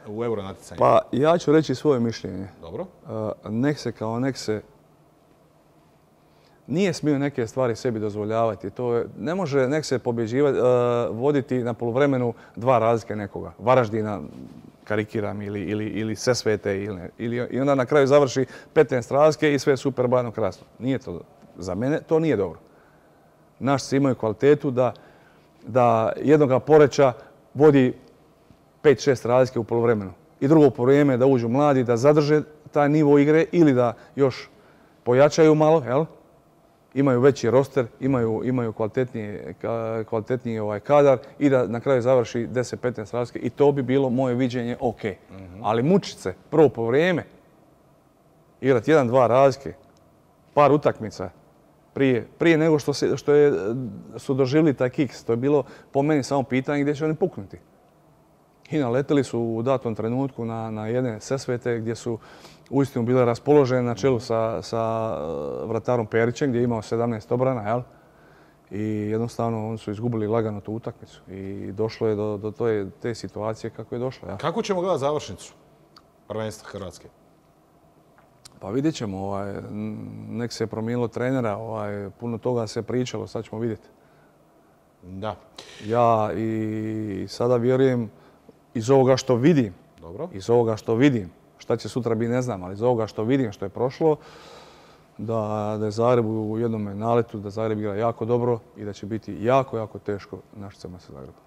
u euro natjecanju? Pa ja ću reći svoje mišljenje. Dobro. Nekse kao Nekse nije smio neke stvari sebi dozvoljavati. Ne može Nekse voditi na poluvremenu dva razlike nekoga. Varaždina, karikiram, ili Sesvete. I onda na kraju završi 15 razlike i sve super bajno krasno. Nije to, za mene to nije dobro. Našci imaju kvalitetu da jednoga Poreča vodi 5-6 razlike u poluvremenu. I drugo poluvreme da uđu mladi, da zadrže taj nivo igre ili da još pojačaju malo, jel? Imaju veći roster, imaju kvalitetniji kadar i da na kraju završi 10-15 razlike i to bi bilo moje viđenje ok. Ali mučit se prvo poluvreme, igrati 1-2 razlike, par utakmica, prije nego što su doživjeli taj kiks. To je bilo po meni samo pitanje gdje će oni puknuti. I naleteli su u datom trenutku na jedne Sesvete gdje su uistinu bile raspoložene na čelu sa vratarom Perićem gdje je imao 17 obrana, jel? I jednostavno oni su izgubili lagano tu utakmicu. I došlo je do te situacije kako je došlo. Jel? Kako ćemo gledati završnicu prvenstva Hrvatske? Pa vidjet ćemo. Nek se je promijenilo trenera, puno toga se pričalo, sad ćemo vidjeti. Da. Ja i sada vjerujem iz ovoga što vidim, šta će sutra biti ne znam, ali iz ovoga što vidim, što je prošlo, da je Zagreb u jednom naletu, da Zagreb igra jako dobro i da će biti jako, jako teško Našicama sa Zagrebom.